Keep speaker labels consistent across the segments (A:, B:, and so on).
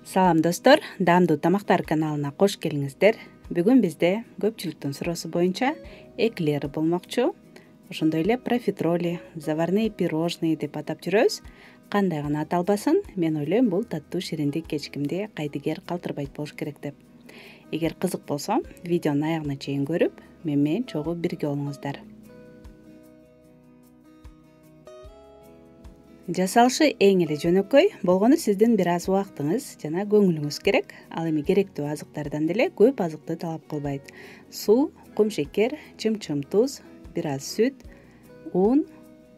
A: Салам достор, даамдуу тамактар каналына кош келиңиздер. Бүгүн бизде көпчүлүктүн суроосу боюнча эклер болмокчу. Ошондой эле профитроли, заварные пирожные деп атап жүрөбүз. Кандай гана аталбасын, мен ойлойм бул таттуу шириндик кечкимди кайдыгер калтырбайт болуш керек деп. Эгер кызык болсо, видеонун аягына чейин көрүп, менен чогуу бирге болуңуздар. Жасалышы эң эле жөнөкөй, болгону сиздин бир аз убактыңыз жана көңүлүңүз керек. Ал эми керектүү азыктардан деле көп азыкты талап кылбайт. Суу, кум шекер, чым-чым туз, бир аз сүт, ун,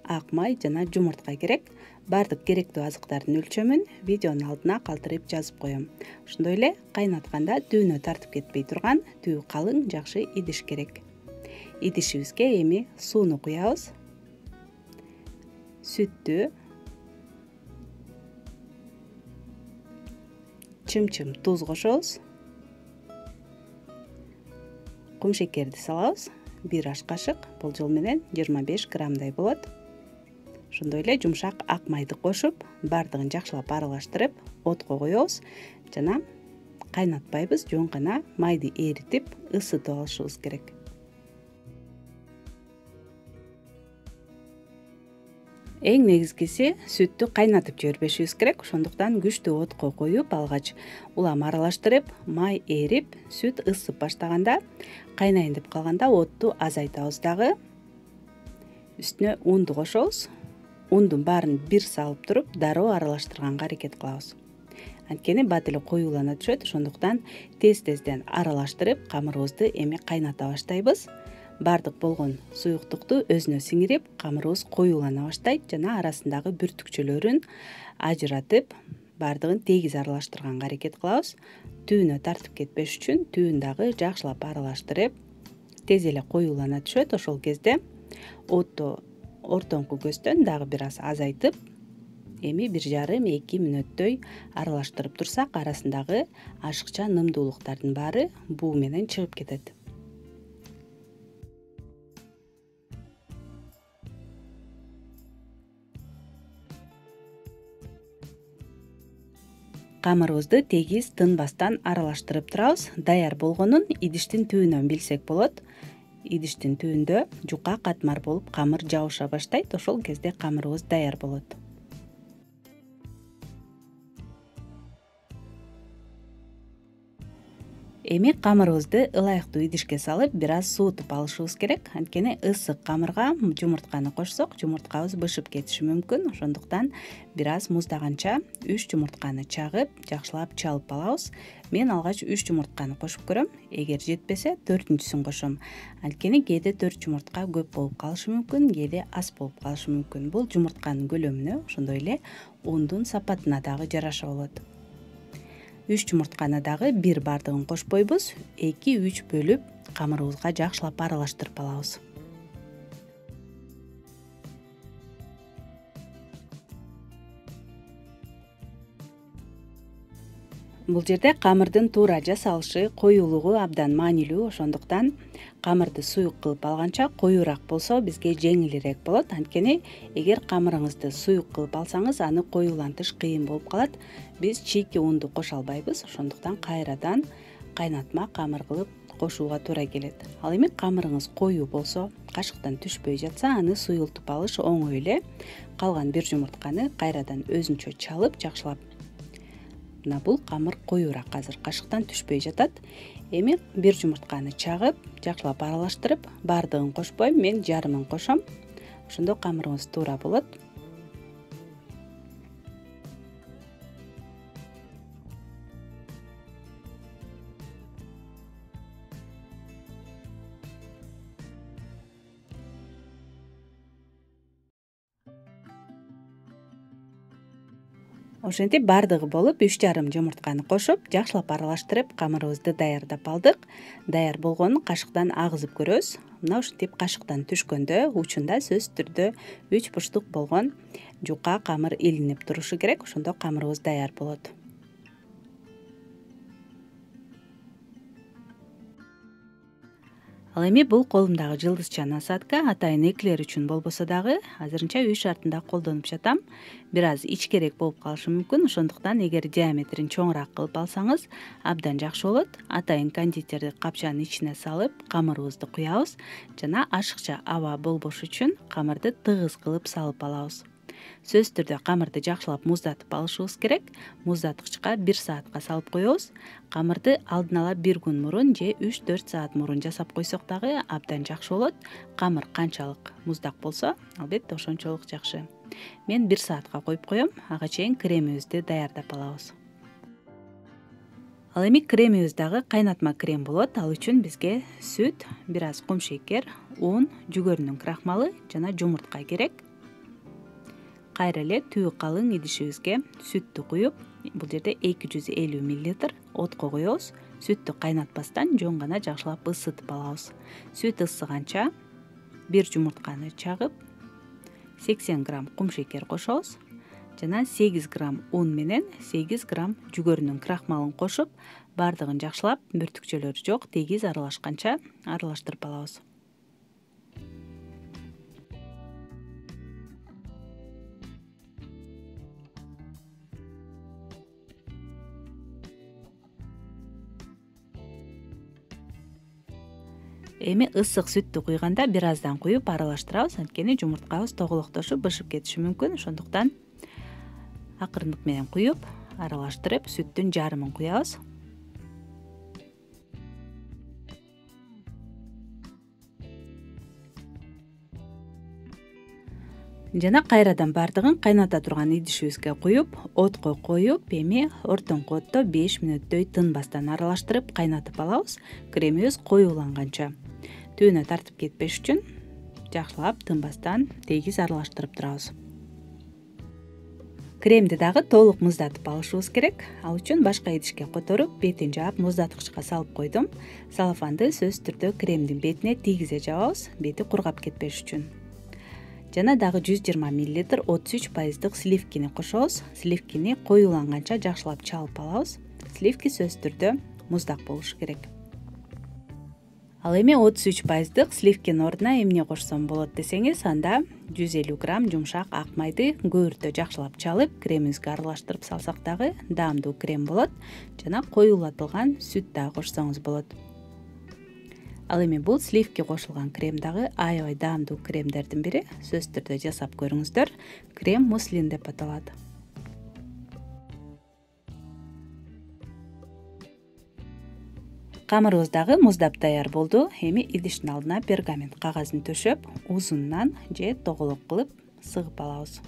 A: ак май жана жумуртка керек. Бардык керектүү азыктардын өлчөмүн видеонун алдына калтырып жазып коем. Ошондой эле кайнатканда түйүнө тартып кетпей турган түйү калың жакшы идиш керек. Идишибизге эми сууну куябыз. Сүттү, чым-чым туз кошобуз. Кум шекерди салабыз. 1 аш кашык, болжол менен 25 граммдай болот. Ошондой эле жумшак ак майды кошуп, бардыгын жакшылап аралаштырып, отко коебуз жана кайнатпайбыз, жөн гана майды эритип, ысытып алышыбыз керек. Эң негизгиси сүттү кайнатып жибербешибиз керек. Ошондуктан күчтүү отко коюп, алгач улам аралаштырып, май эрип, сүт ысып баштаганда, кайнайын деп калганда отту азайтабыз дагы. Үстүнө унду кошобуз. Ундун баарын бир салып туруп, дароо аралаштырганга аракет кылабыз. Анткени бат эле коюулана түшөт. Ошондуктан тез-тезден аралаштырып, камырыбызды эми кайната баштайбыз. Бардык болгон суюктукту өзүнө сиңирип, камырыбыз коюулана баштайт жана арасындагы бүртүкчөлөрүн ажыратып, бардыгын тегиз аралаштырганга аракет кылабыз. Түйүнө тартып кетпеш үчүн түйүн дагы жакшылап аралаштырып, тез эле коюулана түшөт. Ошол кезде отту ортоңку көздөн дагы бир аз азайтып, эми 1,5-2 мүнөттөй аралаштырып турсак, арасындагы ашыкча нымдуулуктардын баары буу менен чыгып кетет. Камырыбызды тегиз тынбастан аралаштырып турабыз. Даяр болгонун идиштин түбүнөн билсек болот. Идиштин түбүндө жука катмар болуп камыр жабыша баштайт. Ошол кезде камырыбыз даяр болот. Эми камырыбызды ылайыктуу идишке салып, бир аз суутуп алышыбыз керек. Анткени ысык камырга жумуртканы кошсок, жумурткабыз бышып кетиши мүмкүн. Ошондуктан бир аз муздаганча 3 жумуртканы чагып, жакшылап чалып алабыз. Мен алгач 3 жумуртканы кошуп көрөм. Эгер жетпесе, 4-сүн кошом. Анткени кээде 4 жумуртка көп болуп калышы мүмкүн, кээде аз болуп калышы мүмкүн. Бул жумуртканын көлөмүнө, ошондой эле ундун сапатына дагы жараша болот. 3 жумуртканы дагы бир бардыгын кошпойбуз, 2-3 бөлүп камырыбызга жакшылап аралаштырып алабыз. Бул жерде камырдын туура жасалышы, коюулугу абдан маанилүү. Ошондуктан камырды суюк кылып алганча коюураак болсо бизге жеңилирээк болот. Анткени эгер камырыңызды суюк кылып алсаңыз, аны коюулантыш кыйын болуп калат. Биз чийки унду кошо албайбыз. Ошондуктан кайрадан кайнатма камыр кылып кошууга туура келет. Ал эми камырыңыз коюу болсо, кашыктан түшпөй жатса, аны суюлтуп алыш оңой эле. Калган бир жумуртканы кайрадан өзүнчө чалып, жакшылап. Мына бул камыр коюураак азыр, кашыктан түшпөй жатат. Эми бир жумуртканы чагып, жакшылап аралаштырып, бардыгын кошпойм, мен жарымын кошом. Ошондо камырыбыз туура болот. Ошентип бардыгы болуп 3,5 жумуртканы кошуп, жакшылап аралаштырып, камырыбызды даярдап алдык. Даяр болгонун кашыктан агызып көрөбүз. Мына ушинтип кашыктан түшкөндө учунда сөзсүз түрдө 3 бурчтук болгон жука камыр илинип турушу керек. Ошондо камырыбыз даяр болот. Ал эми бул колумдагы жылдызча насадка атайын эклер үчүн болбосо дагы азырынча үй шартында колдонуп жатам. Бир аз ичкерээк болуп калышы мүмкүн, ошондуктан эгер диаметрин чоңураак кылып алсаңыз абдан жакшы болот. Атайын кондитерди капчанын ичине салып, камырыбызды куябыз жана ашыкча аба болбош үчүн камырды тыгыз кылып салып алабыз. Сөзсүз түрдө камырды жакшылап муздатып алышыбыз керек. Муздаткычка 1 саатка салып коебуз. Камырды алдын ала 1 күн мурун же 3-4 саат мурун жасап койсок дагы абдан жакшы болот. Камыр канчалык муздак болсо, албетте ошончолук жакшы. Мен 1 саатка коюп коем, ага чейин кремибизди даярдап алабыз. Ал эми кремибиз дагы кайнатма крем болот. Ал үчүн бизге сүт, бир аз кумшекер, ун, жүгөрүнүн крахмалы жана жумуртка керек. Кайра эле түбү калың идишибизге сүттү куюп, бул жерде 250 мл отко коебуз. Сүттү кайнатпастан жөн гана жакшылап ысытып алабыз. Сүт ысыганча 1 жумуртканы чагып, 80 грамм кумшекер кошобуз жана 8 грамм ун менен 8 грамм жүгөрүнүн крахмалын кошуп, бардыгын жакшылап бүртүкчөлөр жок тегиз аралашканча аралаштырып алабыз. Эми ысык сүттү куйганда бир аздан куюп аралаштырабыз, анткени жумурткабыз тоголоктошуп бышып кетиши мүмкүн. Ошондуктан акырындык менен куюп, аралаштырып, сүттүн жарымын куябыз. Жана кайрадан бардыгын кайната турган идишибизге куюп, отко коюп, эми ортоңку отто 5 мүнөттөй тынбастан аралаштырып кайнатып алабыз. Кремибиз коюуланганча. Түбүнө тартып кетпеш үчүн жакшылап тынбастан тегиз аралаштырып турабыз. Кремди дагы толук муздатып алышыбыз керек. Ал үчүн башка идишке которуп, бетин жаап муздаткычка салып койдум. Салафанды сөзсүз түрдө кремдин бетине тийгизе жабабыз, бети кургап кетпеш үчүн. Жана дагы 120 мл 33% сливкини кошобуз. Сливкини коюуланганча жакшылап чалып алабыз. Сливки сөзсүз түрдө муздак болушу керек. Ал эми 33% сливкинин ордуна эмне кошсом болот десеңиз, анда 150 грамм жумшак ак майды көбүртө жакшылап чалып, кремибизге аралаштырып салсак дагы даамдуу крем болот. Жана коюулатылган сүт дагы кошсоңуз болот. Ал эми бул сливки кошулган крем дагы аябай даамдуу кремдердин бири. Сөзсүз түрдө жасап көрүңүздөр. Крем муслин деп аталат. Камырыбыз дагы муздап даяр болду. Эми идиштин алдына пергамент кагазын төшөп, узунунан же тоголок кылып сыгып алабыз.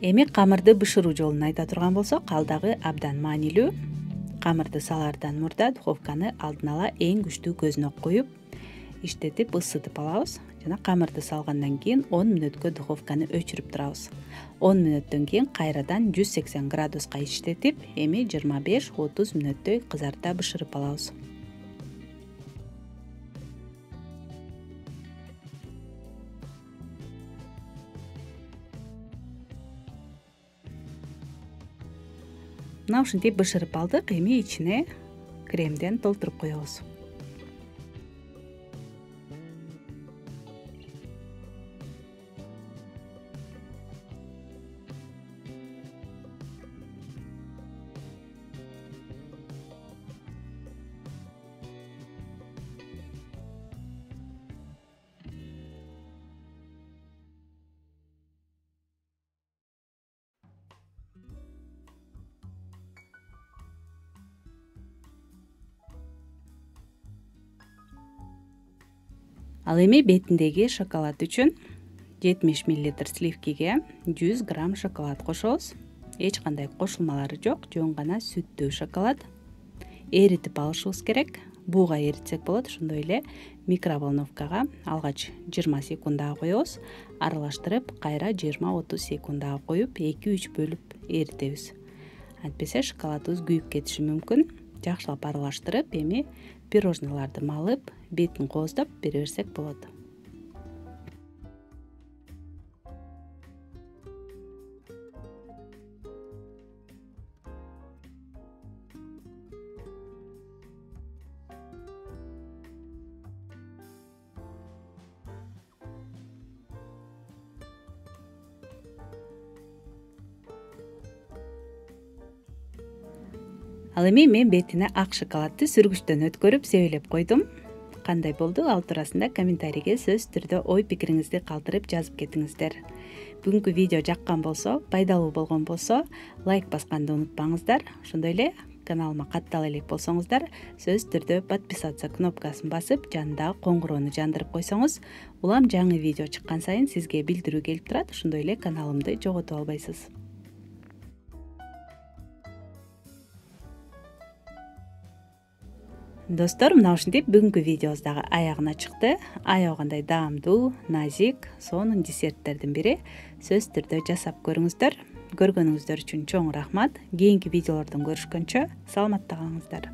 A: Эми камырды бышыруу жолун айта турган болсок, ал дагы абдан маанилүү. Камырды салаардан мурда духовканы алдын ала эң күчтүү көзүнө коюп, иштетип ысытып алабыз. Жана камырды салгандан кийин 10 мүнөткө духовканы өчүрүп турабыз. 10 мүнөттөн кийин кайрадан 180 градуска иштетип, эми 25-30 мүнөттөй кызарта бышырып алабыз. Мына ушинтип бышырып алдык. Эми ичине кремден толтуруп коебуз. Ал эми бетиндеги шоколад үчүн 70 мл сливкиге 100 грамм шоколад кошобуз. Эч кандай кошулмалары жок, жөн гана сүттүү шоколад. Эритип алышыбыз керек. бууга эритсек болот. Ошондой эле микроволновкага алгач 20 секундага коебуз, аралаштырып кайра 20-30 секундага коюп 2-3 бөлүп эритебиз. Антпесе шоколадыбыз күйүп кетиши мүмкүн. Жакшылап аралаштырып, эми пирожнойлорду малып, бетин кооздоп бере берсек болот. Ал эми мен бетине ак шоколадты сүргүчтөн өткөрүп себелеп койдум. Кандай болду? Ал туурасында комментарийге сөзсүз түрдө ой пикириңизди калтырып жазып кетиңиздер. Бүгүнкү видео жаккан болсо, пайдалуу болгон болсо, лайк басканды унутпаңыздар. Ошондой эле каналыма каттала элек болсоңуздар, сөзсүз түрдө подписаться кнопкасын басып, жанындагы коңгуроону жандырып койсоңуз, улам жаңы видео чыккан сайын сизге билдирүү келип турат. Ошондой эле каналымды жоготуп албайсыз. Достор, мына ушинтип бүгүнкү видеобуз дагы аягына чыкты. Аябагандай даамдуу, назик, сонун десерттердин бири. Сөзсүз түрдө жасап көрүңүздөр. Көргөнүңүздөр үчүн чоң рахмат. Кийинки видеолордон көрүшкөнчө саламатта калыңыздар.